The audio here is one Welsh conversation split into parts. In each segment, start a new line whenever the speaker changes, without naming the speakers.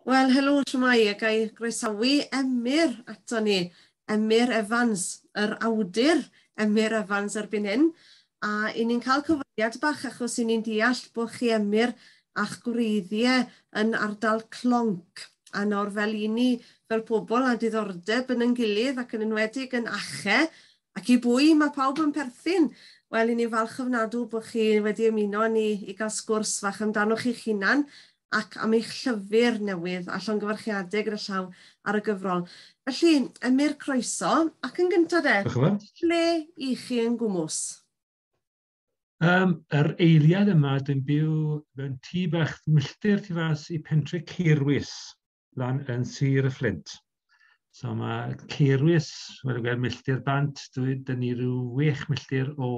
Wel, helo, shwmae, a ga i groesawu Emyr ato ni. Emyr Evans, yr awdur Emyr Evans erbyn hyn. A i ni'n cael cyfweliad bach achos i ni'n deall bod chi, Emyr, a'ch gwreiddiau yn ardal Clonc. A nawr fel i ni, fel pobl â diddordeb yn ein gilydd ac yn enwedig yn ache, ac i bwy mae pawb yn perthyn. Wel, i ni'n falch ofnadw bod chi wedi ymuno â ni i gael sgwrs fach amdanoch chi'ch hunan ac am eich llyfr newydd, a llongyfarchiadau gyda llaw ar y gyfrol. Felly, Emyr, croeso, ac yn gyntaf de, lle i chi yn gwmws?
Yr eiliad yma, dwi'n byw mewn tŷ bach milltir tu fas i pentre Caerwys, lan yn Sir y Fflint. So mae Caerwys, wedi gweld milltir bant, dyn ni rhyw 6 milltir o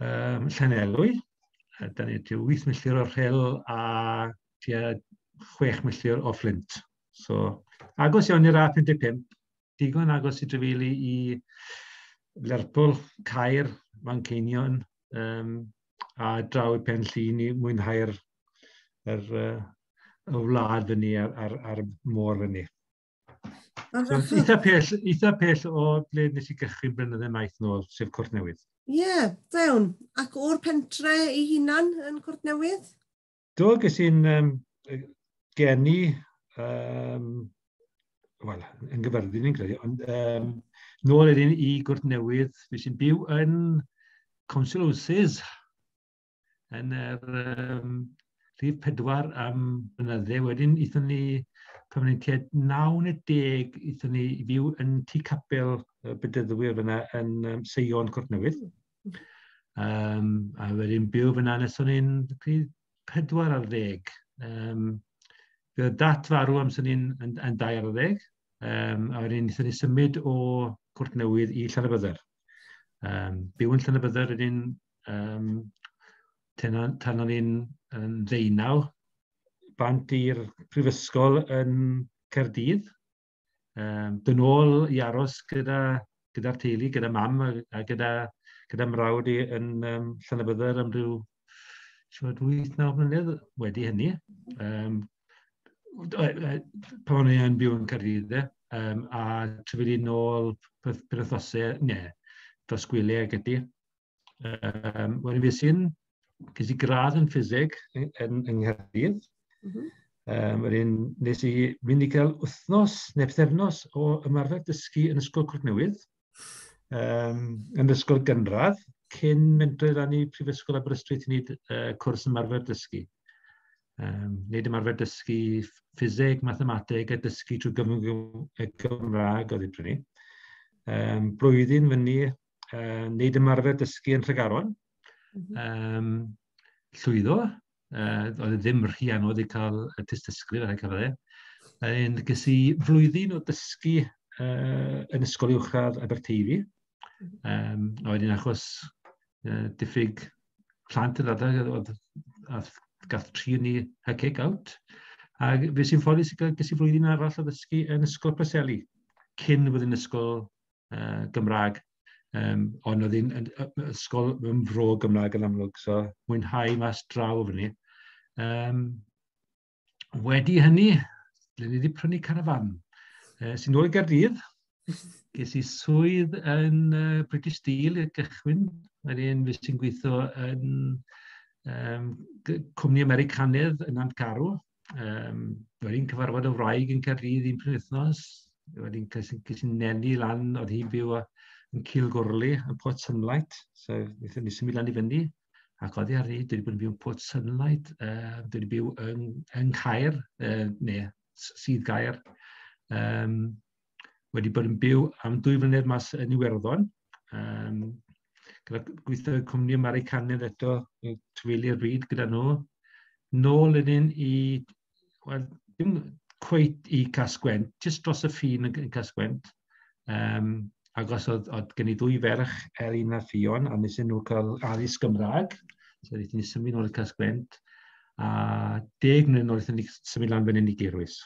Llanelwy. Dyn ni tua 8 milltir o'r Rhyl a tua 6 milltir o Fflint. So, agos iawn i'r A55, digon agos i drafeili i Lerpwl, Caer, Manceinion, a draw i Pen Llŷn i mwynhau'r y wlad fyny a'r môr fyny. So, eitha pell o ble nes i gychwyn blynydde maith nôl, sef Cwrt Newydd.
Ie, yeah, da iawn. Ac o'r pentre ei hunan yn Cwrt Newydd?
Do, ges i'n geni, wel, yn Gyfyrddin ni'n credu, ond nôl wedyn i Gwrt Newydd, fi sy'n byw yn Council Houses yn yr rhif 4 am blynydde. Wedyn aethon ni, pan o'n i'n tua 9 neu 10, aethon ni i fyw yn tŷ capel y Bedyddwyr fyna yn Seion Cwrt Newydd. A wedyn byw fyna nes o'n i'n 14. Fe oedd dat farw amser ni'n yn 12. A wedyn wnaethon ni symud o Cwrt Newydd i Llanybydder. Byw yn Llanybydder wedyn tan o'n i'n yn 19, bant i'r prifysgol yn Caerdydd. Dyn ôl i aros gyda'r teulu, gyda mam a gyda mrawd i yn Llanybydder am ryw 8-9 mlynedd wedi hynny. Pan o'n i yn byw yn Caerdydd, a trafeili nôl penwythnosau, ne, dros gwyliau ag ati. Wedyn ges i gradd yn ffiseg yng Nghaerdydd. Wedyn nes i fynd i gael wythnos neu pythefnos o ymarfer dysgu yn Ysgol Cwrt Newydd, yn ysgol gynradd, cyn mynd lan i Prifysgol Aberystwyth i wneud cwrs ymarfer dysgu. Wneud ymarfer dysgu ffiseg, mathemateg a dysgu trwy gyfrwng y Gymraeg oedd i prynu. Blwyddyn fyny, wneud ymarfer dysgu yn Tregaron. Llwyddo. Oedd e ddim rhy anodd i cael y tystysgrif ar y cyfle. Un, ges i flwyddyn o dysgu yn Ysgol Uwchradd Aberteifi. A wedyn achos diffyg plant yn adeg, oedd, gath tri ni y kick out. A fe sy'n ffodus i gael, ges i flwyddyn arall o ddysgu yn Ysgol Preseli, cyn fod yn ysgol Gymraeg. Ond oedd hi'n ysgol mewn fro Gymraeg yn amlwg, so mwynhau mas draw fyny. Wedi hynny, ble ni wedi prynu carafan. Sy'n nôl i Gaerdydd, ges i swydd yn British Steel i'r gychwyn. Wedyn fi sy'n gweithio yn cwmni Americanedd yn Nantgarw. Wedyn cyfarfod y wraig yn Caerdydd un penwythnos. Wedyn ces i nenu lan, oedd hi'n byw yn Cilgwrli, yn Port Sunlight. So, wnaethon ni symud lan i fyny. Ac oddi ar ni, dwi wedi bod yn byw yn Port Sunlight, dwi wedi byw yng Nghaer, neu Sydd Gaer. Wedi bod yn byw am 2 flynedd mas yn Iwerddon. Gyda gweithio cwmni Americanaidd eto, trafeilio'r byd gyda nhw. Nôl wedyn i, wel, dim cweit i Casgwent, jyst dros y ffin yn Casgwent. Agos oedd gen i ddwy ferch, Elin a Ffion, a nes i nhw cael addysg Gymraeg. So wnaethon ni symud nôl i Casgwent. A 10 mlynedd nôl wnaethon ni symud lan fan hyn i Gaerwys.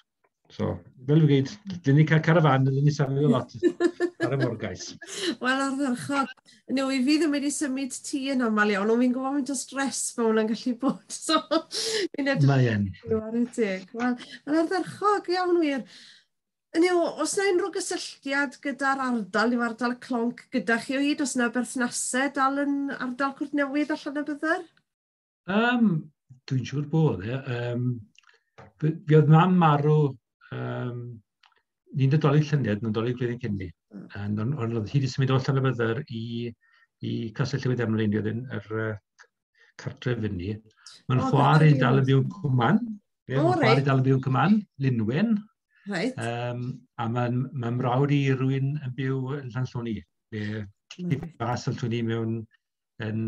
So, fel dwi'n gweud, dyn ni cael carafan, dyn ni safio lot. Ar y morgais.
Wel, ardderchog. Neu, i fi ddim wedi symud tŷ yn aml iawn, ond fi'n gwybod faint o stres mae hwnna'n gallu bod. So, fi'n edrych.
Mae yn.
Ar y teg. Wel, mae'n ardderchog iawn wir. Hynny yw, oes 'na unrhyw gysylltiad gyda'r ardal, yw ardal Clonc gyda chi o hyd? Oes 'na berthnasau dal yn ardal Cwrtnewydd a Llanybydder?
Dwi'n siŵr bod, e. Fi oedd mam marw, ni'n Nadolig llynedd, Nadolig blwyddyn cyn ni. Ond oedd hi wedi symud o Llanybydder i Castell Newydd Emlyn, oedd yn yr cartref fyny. Mae'n chwaer i dal yn byw yn Cwmann. Mae'n chwaer i dal yn byw yn Cwmann, Linwyn. A mae'n mrawd i rywun yn byw yn Llanllwni. Neu fas Llanllwni mewn yn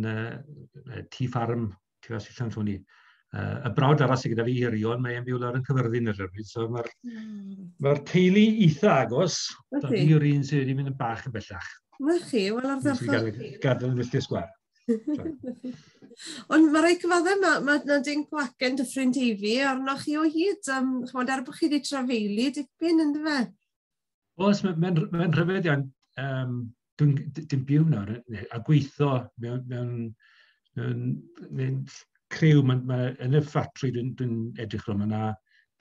tŷ ffarm tu fas i Llanllwni. Y brawd arall sydd gyda fi, Irion, mae'n byw lawr yn Cyfyrddin ar y bryd. So mae'r teulu eitha agos. Fi yw'r un sydd wedi mynd yn bach yn bellach.
Na chi, wel ardderchog.
Gadael yn filltir sgwâr.
Ond mae rhaid cyfadde, mae 'na dinc o acen Dyffryn Teifi arnoch chi o hyd. Chimod, er bod chi wedi trafeili dipyn, ynddo fe?
Oes, mae'n rhyfedd iawn. Dwi'n byw nawr a gweithio mewn criw, yn y ffatri dwi'n edrych rhwng, mae yna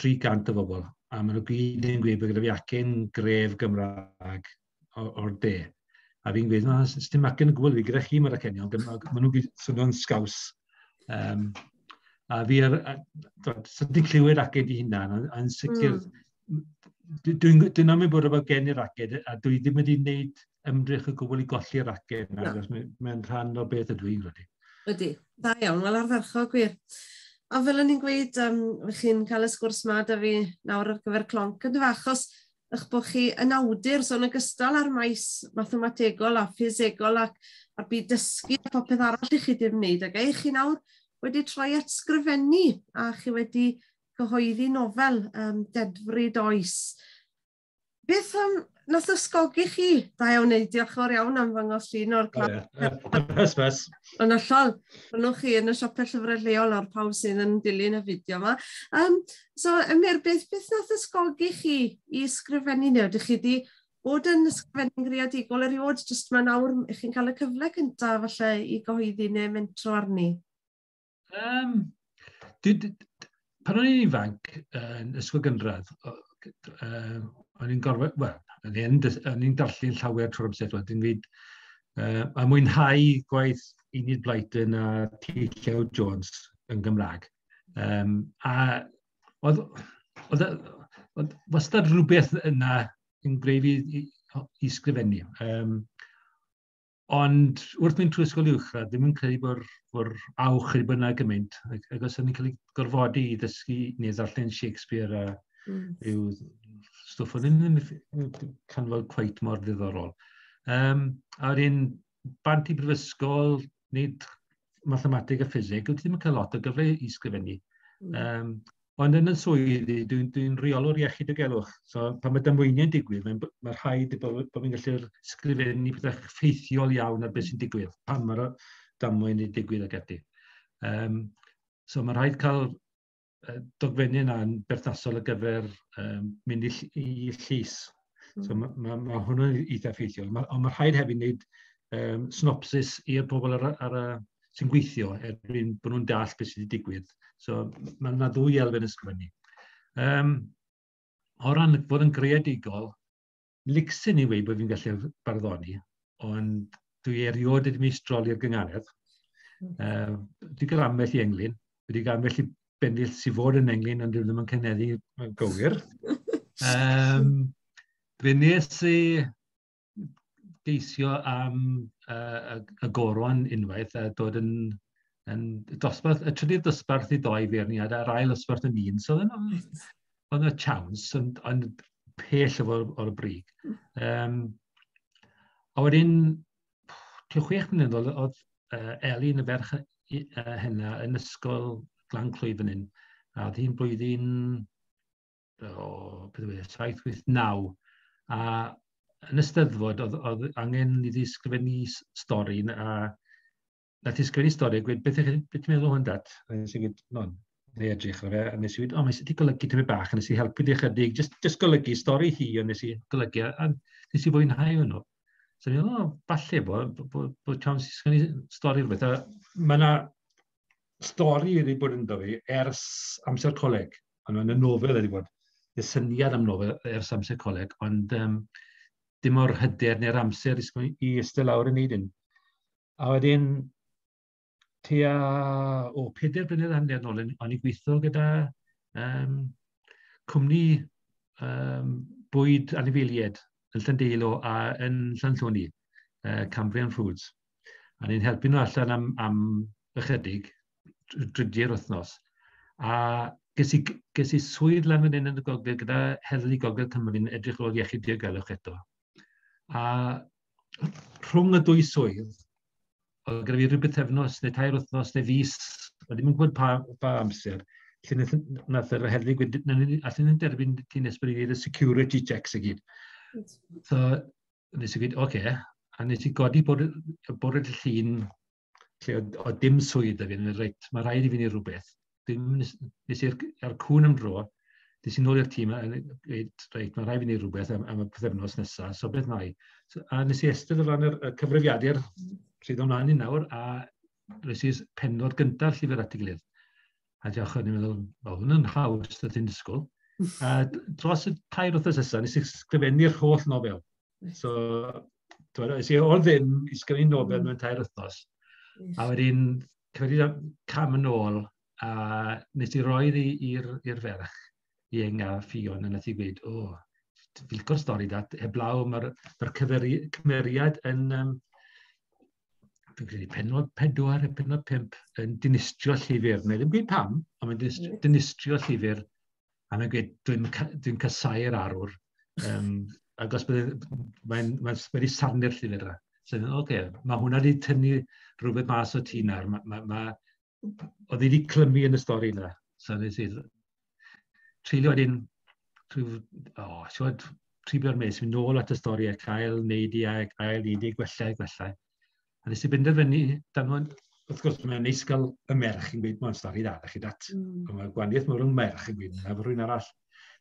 300 o bobl, a maen nhw gyd yn gweud bod gyda fi acen gref Gymraeg o'r de. A fi'n gweud, na, dim acen y gwbl fi, gyda chi mae'r acenion, maen nhw'n gyd swnio'n sgaws. A fi, so ti'n clywed acen di hunan, yn sicr, dwi'n am bod efo gen i'r acen, a dwi ddim wedi gwneud ymdrech o gwbl i golli'r acen, achos mae'n rhan o beth ydw i'n credu.
Ydy, da iawn, wel ardderchog gwir. A fel o'n i'n gweud, chi'n cael y sgwrs ma da fi nawr ar gyfer Clonc, yn achos eich bod chi yn awdur, so yn ogystal â'r maes mathemategol a ffisegol ac a'r byd dysgu a popeth arall i chi wedi wneud, ac eich chi nawr wedi troi at sgrifennu a chi wedi cyhoeddi nofel Dedfryd Oes. Beth nath ysgogi chi? Da iawn, neu diolch yn fawr iawn am ddangos llun o'r
clap. Hysbys.
Yn hollol, rhannwch chi yn y siopau llyfrau lleol a'r pawb sydd yn dilyn y fideo yma. So, Emyr, beth nath ysgogi chi i ysgrifennu neu? Ydych chi wedi bod yn ysgrifennu'n greadigol erioed, jyst mae nawr ych chi'n cael y cyfle cyntaf falle i gyhoeddi neu mentro arni?
Pan o'n i'n ifanc yn ysgol gynradd, o'n i'n gorfod, wel, o'n i'n darllen llawer trwy'r amser, wedyn gweud, a mwynhau gwaith Enid Blyton a T. Llew Jones yn Gymraeg. A oedd wastad rhywbeth yna yn gwneud fi i sgrifennu. Ond wrth mynd trwy ysgol uwchradd, ddim yn credu bod awch wedi bod yna gymaint. Ac os o'n i'n cael ei gorfodi i ddysgu neu ddarllen Shakespeare a rhyw stwff o'n ddim yn canfod cweit mor ddiddorol. A wedyn, bant i brifysgol, wneud mathemateg a ffiseg, wyt ti ddim yn cael lot o gyfle i sgrifennu. Ond yn y swyddi, dwi'n rheolwr iechyd diogelwch. So pan mae damweiniau'n digwydd, mae rhaid bod fi'n gallu'r sgrifennu pethau ffeithiol iawn ar beth sy'n digwydd, pan mae'r damwain yn digwydd ac ati. So mae rhaid cael dogfennu yna'n berthnasol ar gyfer mynd i llys. So mae hwnnw'n eitha ffeithiol. Ond mae rhaid hefyd wneud synopsis i'r bobl ar y sy'n gweithio erbyn bod nhw'n deall beth sydd wedi digwydd. So mae yna ddwy elfen ysgrifennu. O ran fod yn greadigol, licsen i weud bod fi'n gallu barddoni, ond dwi erioed wedi meistroli'r gynghanedd. Dwi gael ambell i englyn, wedi cael ambell i bennill sydd fod yn englyn, ond dwi ddim yn cyneddu gywir. Fe nes i geisio am y goron unwaith a dod yn dosbarth, y trydydd dosbarth i ddoi feirniad a'r ail dosbarth yn un. So oedd yna chance, ond pell o'r brig. A wedyn, tua 6 mlynedd oedd Elin, y ferch hynna, yn ysgol Glan Clwyd fan hyn. A oedd hi'n blwyddyn, beth yw e, 7, 8, 9. A yn y Steddfod, oedd angen iddi sgrifennu stori, a nath hi sgrifennu stori a gweud, beth ti'n meddwl hwn, dat? A nes i gweud, no, neu edrych ar fe, a nes i gweud, o, mae wedi golygu tymed bach, a nes i helpu di chydig, just golygu stori hi, a nes i golygu, a nes i fwynhau hwnnw. So ni'n meddwl, oh, falle bod chance i sgwennu stori rhywbeth. A mae yna stori wedi bod ynddo fi ers amser coleg. Ond mae'n nofel wedi bod. Y syniad am nofel ers amser coleg, ond dim o'r hyder neu'r amser i eistedd lawr yn neud un. A wedyn, tua, o, 4.5 blynedd nôl, o'n i'n gweithio gyda cwmni bwyd anifeiliaid yn Llandeilo a yn Llanllwni, Cambrian Foods. A ni'n helpu nhw allan am ychydig, drydiau'r wythnos. A ges i swydd lan fan hyn yn y gogledd gyda Heddlu Gogledd Cymru yn edrych ar ôl iechyd diogelwch eto. A rhwng y dwy swydd, oedd gyda fi rhyw bythefnos neu 3 wythnos neu fis, oedd ddim yn gwybod pa amser, lle nath yr heddlu gweud, "Allen ni'n derbyn ti nes bod ni'n gwneud y security checks i gyd." So, nes i gweud, "Oce, okay." A nes i godi bore y Llun, lle oedd dim swydd 'da fi, reit, mae rhaid i fi wneud rhywbeth. Dim, nes i'r ar cwn am dro, nes i nôl i'r tîm a gweud, "Reit, mae rhaid i fi wneud rhywbeth am y pythefnos nesaf, so beth wna i?" So, a nes i estyn o ran y cyfrifiadur sydd ymlaen i nawr, a nes i pennod gyntaf llyfr at ei gilydd. A diolch, o'n i'n meddwl, "O, hwn yn haws na ti'n disgwyl." A dros y 3 wythnos nesaf, nes i sgrifennu'r holl nofel. So, nes i o'r ddim i sgrifennu nofel mewn 3 wythnos. A wedyn, cymryd cam yn ôl, a nes i roi i'r ferch, i Enga Ffion, a nath i gweud, "O, fi'n licio'r stori dat, heblaw mae'r cymeriad yn, fi'n credu pennod 4 neu pennod 5 yn dinistrio llyfr. Neu ddim gweud pam, ond mae'n dinistrio llyfr. A mae'n gweud, "Dwi'n dwi casau'r arwr." Ac os bydde, mae'n mae wedi sarnu'r llyfr yna. So, oce, okay, mae hwnna wedi tynnu rhywbeth mas o ti nawr. Oedd wedi clymu yn y stori yna. So nes i treulio wedyn, rhyw, oh, siwr, 3 mis, mynd nôl at y stori a cael neud i a cael neud i gwella a gwella. A nes i benderfynu, danfon, wrth gwrs, mae'n neis gael y merch yn gweud, "Mae'n stori dda, da chi dat." Ond mae gwahaniaeth mawr rhwng merch yn gweud, na rhywun arall.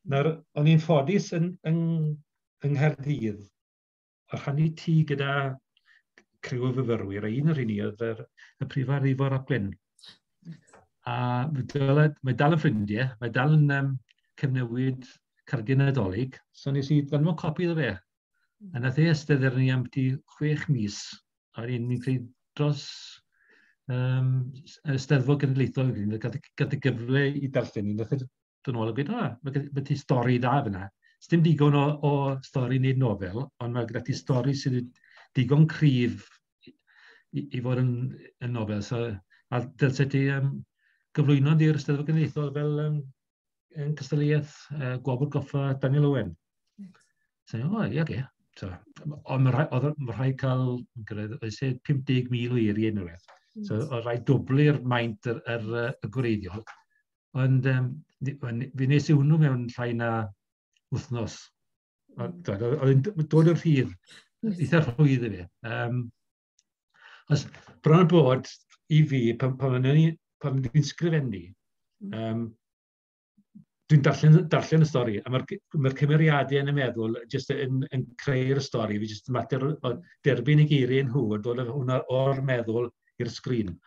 Nawr, o'n i'n ffodus yng Nghaerdydd, o rhannu tŷ gyda criw o fyfyrwyr, a un o'r rheini oedd y prifardd Ifor ap Glyn. A mae dal yn ffrindiau, mae dal yn cyfnewid cardiau Nadolig, so nes i ddanfon copi iddo fe. A nath e eistedd ar ni am 6 mis, a ni'n credu dros y Steddfod Genedlaethol, gath y gyfle i darllen ni, nath e dod nôl a gweud, "O, mae ti stori dda fyna. Dim digon o stori wneud nofel, ond mae gyda ti stori sydd digon cryf i fod yn nofel. So, a dylse ti gyflwyno di'r Steddfod Genedlaethol fel yn cystadleuaeth Gwobr Goffa Daniel Owen." So, o, ie, oce. So, ond mae rhaid cael, oes e 50,000 o eiriau neu rhywbeth. So, oedd rhaid dwblu'r maint y gwreiddiol. Ond fi nes i hwnnw mewn llai na wythnos. Oedd yn dod yn rhydd, eitha rhwydd i fi. Os bron bod i fi, pan dwi'n sgrifennu, dwi'n darllen y stori, a mae'r ma cymeriadau yn y meddwl jyst yn creu'r stori. Fi jyst yn mater o derbyn y geiriau nhw a dod hwnna o'r meddwl i'r sgrin.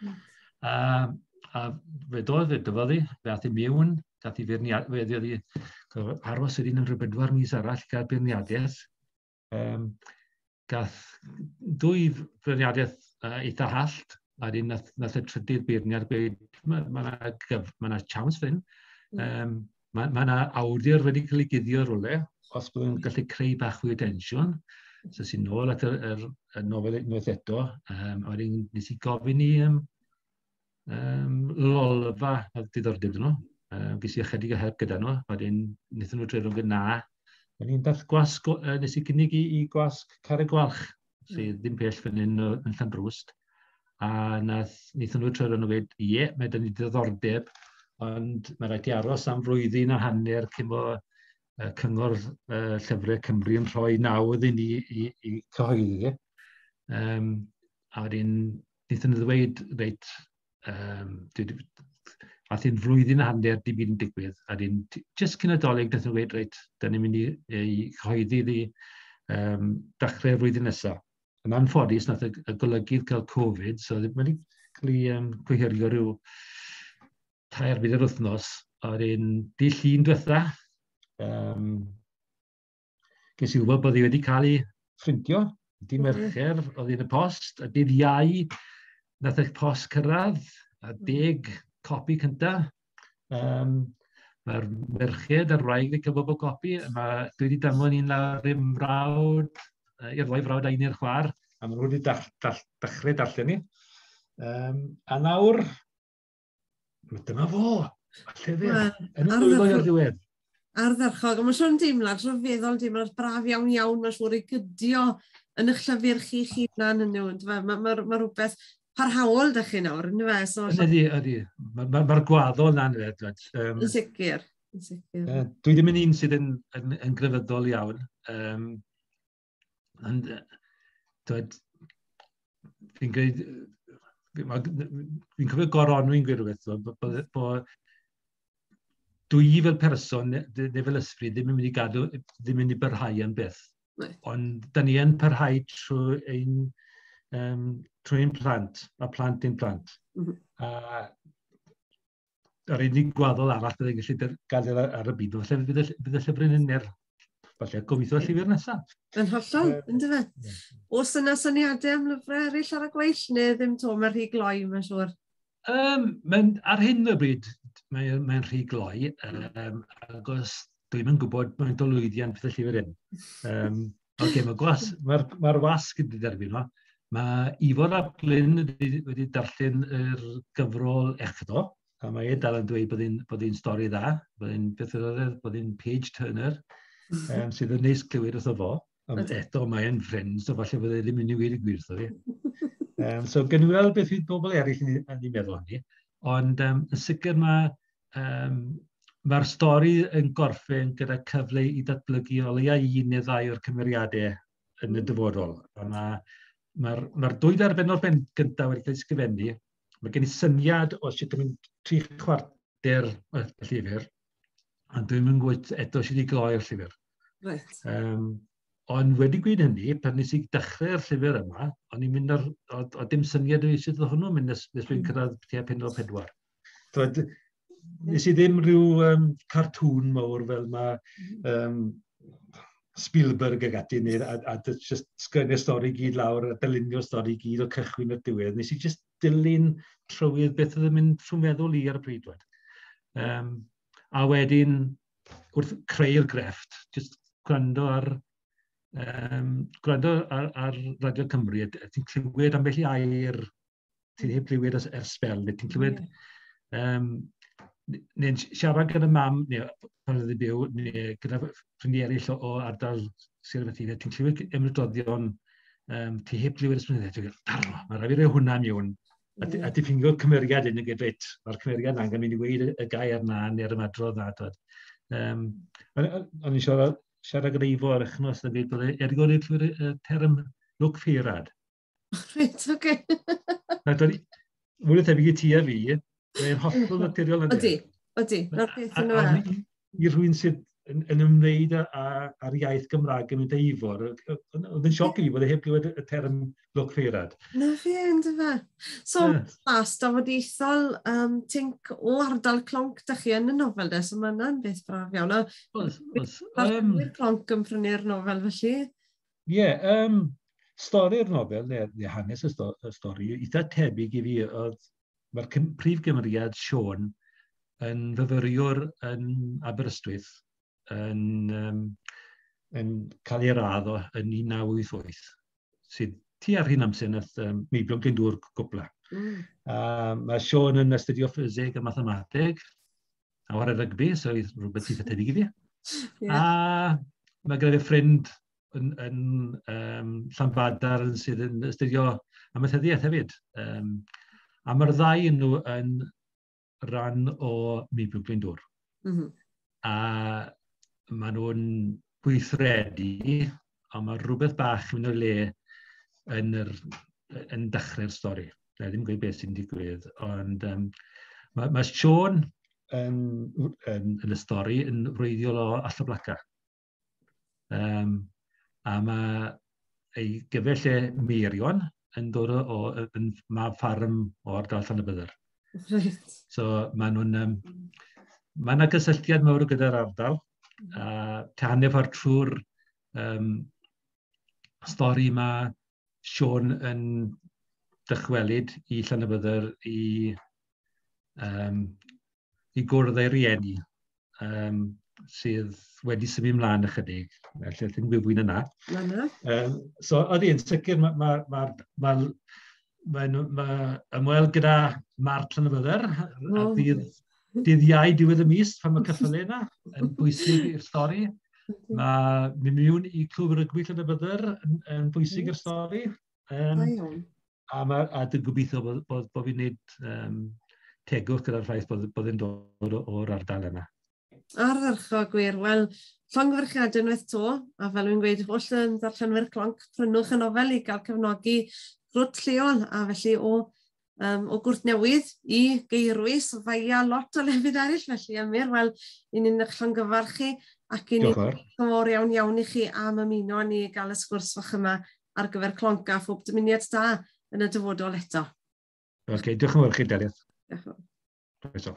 A fe dyfodd i, fe ath i mewn, gath i feirniad, fe oedd i aros wedyn yn rhyw 4 mis arall gael beirniadaeth. Gath dwy feirniadaeth eitha hallt, a wedyn nath y trydydd beirniad gweud, "Mae ma ma ma chance fan hyn. Mae yna awdur wedi cael ei guddio rhywle, os byddwn yn gallu creu bach fwy o densiwn." So sy'n nôl at y nofel unwaith eto. A wedyn nes i gofyn i Lolfa oedd diddordeb nhw. Ges i ychydig o help gyda nhw. Wedyn wnaethon nhw dreulio nhw'n na. Wedyn dath gwasg, nes i gynnig i gwasg Carreg Gwalch, sydd ddim pell fan hyn yn Llanrwst. A wnaethon nhw dreulio nhw gweud, "Ie, mae 'da ni diddordeb, ond mae rhaid i aros am flwyddyn a hanner cyn bo Cyngor Llyfrau Cymru yn rhoi nawdd i ni i cyhoeddi." A wedyn wnaethon nhw ddweud, reit, ath hi'n flwyddyn a hanner dim byd yn digwydd, a wedyn jyst cyn y Dolig wnaethon nhw ddweud, "Reit, da ni'n mynd i cyhoeddi iddi dechrau'r flwyddyn nesaf." Yn anffodus, nath y golygydd cael Covid, so mae wedi cael ei gohirio rhyw 3 4 wythnos, a wedyn dydd Llun diwetha, ges i wybod bod hi wedi cael ei phrintio, dydd Mercher, oedd hi'n y post, a dydd Iau, nath y post cyrraedd, a 10 copi cynta. Mae'r merched a'r wraig wedi cael bob o copi. Mae, dwi wedi danfon un lawr i'm mrawd, i'r ddwy frawd a un i'r chwaer, a maen nhw wedi dechrau darllen ni. A nawr, dyma fo, y llyfr, yn y llwyddo i'r diwedd.
Ardderchog, a mae'n siŵr yn deimlad, rhyfeddol deimlad braf iawn iawn, mae'n siŵr i gydio yn eich llyfr chi'ch hunan yn nhw. Mae rhywbeth parhaol 'da chi nawr, yn fe?
So, ydy. Mae'r ma gwaddol na'n fe.
Yn sicr. Yn sicr.
Dwi ddim yn un sydd yn grefyddol iawn. Ond, dwed, fi'n gweud, fi'n cofio Goronwy'n gweud rhywbeth, bo dwi fel person neu fel ysbryd ddim yn mynd i gadw, ddim yn mynd i barhau am byth. Ond da ni yn parhau trwy ein plant, a plant ein plant. A yr unig gwaddol arall byddai'n gallu gadael ar y byd, falle bydd y llyfryn yn er, falle gobeithio y llyfr nesaf.
Yn hollol, yn dyfe? Oes yna syniadau am lyfrau eraill ar y gweill, neu ddim to, mae'n rhy gloi, mae'n siŵr?
Ar hyn o bryd, mae rhy gloi, agos dwi'n yn gwybod mae'n o lwyddiant bydd y llyfr hyn. Okay, mae wasg wedi derbyn o. Mae Ifor ap Glyn wedi darllen yr gyfrol echdo, a mae e dal yn dweud bod hi'n stori dda, bod hi'n, beth oedd e, bod hi'n page turner, sydd yn neis clywed wrtho fo. Ond eto mae e'n ffrind, so falle bod e ddim yn mynd i weud y gwir wrtho fi. So gen i weld beth fydd bobl eraill yn ei meddwl hynny. Ond yn sicr mae'r stori yn gorffen gyda cyfle i datblygu o leia un neu ddau o'r cymeriadau yn y dyfodol. A mae'r dwy bennod ben gyntaf wedi cael ei sgrifennu. Mae gen i syniad o sut yn mynd 3/4 y llyfr, ond dwi'n mynd gwybod eto sut i gloi'r llyfr. Ond wedi gweud hynny, pan nes i dechrau'r llyfr yma, o'n i'n mynd ar, o dim syniad o sut oedd hwnnw'n mynd nes dwi'n cyrraedd tua pennod 4. Twyd, nes i ddim rhyw cartŵn mawr fel mae Spielberg ag ati, neu, a just sgwennu'r stori gyd lawr, a dylunio'r stori gyd o cychwyn i'r diwedd. Nes i just dilyn trywydd beth oedd yn mynd trwy meddwl i ar y pryd. A wedyn, wrth creu'r grefft, just gwrando ar Radio Cymru, a ti'n clywed ambell i air ti'n heb glywed ers sbel, neu ti'n clywed neu'n siarad gyda mam, neu pan oedd hi byw, neu gyda ffrindiau eraill o ardal Sir Aberteifi, ti'n clywed ymadroddion ti heb glywed ers blynyddoedd, ti'n gwybod, darro, mae rhaid fi roi hwnna mewn. A ti ffindio cymeriad un yn gweud, reit, mae'r cymeriad na'n mynd i weud y gair na, neu'r ymadrodd na. Twyd. O'n i'n siarad gyda Ifo ar wythnos yn dweud bod e erioed wedi clywed y term lwc ffeirad.
Reit, oce.
Na, mwy o tebyg i ti a fi, mae'n hollol naturiol yn
Ydy. Na'r peth yn yma.
I rhywun sydd yn ymwneud â'r iaith Gymraeg yn mynd â Ifor, oedd yn sioc i fi bod e heb glywed y term lwc ffeirad.
Na fi, ynddo fe. So, blas dafodieithol, tinc o ardal Clonc da chi yn y nofel de, so mae hwnna'n beth braf iawn.
Oes, oes.
Clonc yn prynu'r nofel felly?
Ie, yeah, stori'r nofel, neu hanes y stori, eitha tebyg i fi, oedd mae'r prif gymeriad Siôn yn fyfyriwr yn Aberystwyth yn cael ei radd o yn 1988, sydd tua'r un amser nath Meibion Glyndŵr gwpla. Mae Siôn yn astudio ffiseg a mathemateg, a chwarae rygbi, so rhywbeth eitha tebyg i fi. A mae gyda fi ffrind yn Llanbadarn sydd yn astudio amaethyddiaeth hefyd. A mae'r ddau yn nhw yn rhan o Meibion Glyndŵr. A maen nhw'n gweithredu, ond mae rhywbeth bach yn mynd o'i le yn dechrau'r stori. Na ddim gweud beth sy'n digwydd, ond mae Siôn yn y stori yn wreiddiol o Alltyblaca. A mae ei gyfell e Meirion yn dod o yn mab ffarm o ardal Llanybydder.
Right.
So maen nhw'n... mae yna gysylltiad mawr gyda'r ardal. A hanner ffordd trwy'r stori mae Siôn yn dychwelyd i Llanybydder i gwrdd ei rieni sydd wedi symud ymlaen ychydig. Felly, ddim gweud fwy na 'na.
Na.
So, ydy, yn sicr, ma ymweld gyda Mart Llanybydder a dydd Iau diwedd y mis, pan mae ceffylau yna, yn bwysig i'r stori. Mae mynd mewn i Clwb Rygbi Llanybydder yn bwysig i'r stori. A dwi'n gobeithio bod fi'n gwneud tegwch gyda'r ffaith bod e'n dod o'r ardal yna.
Ardderchog gwir. Wel, llongyfarchiadau unwaith 'to, a fel wy'n gweud, holl yn ddarllenwyr Clonc, prynwch y nofel i gael cefnogi grwt lleol, a felly o Gwrtnewydd i Geirwys, faia lot o lefydd eraill, felly Emyr, wel, i ni'n eich llongyfarchu ac i ni'n fawr iawn iawn i chi am ymuno â ni i gael y sgwrs fach yma ar gyfer Clonc a phob dymuniad da yn y dyfodol eto.
Oce, okay, diolch yn fawr chi, Delyth.
Diolch yn fawr.
Croeso.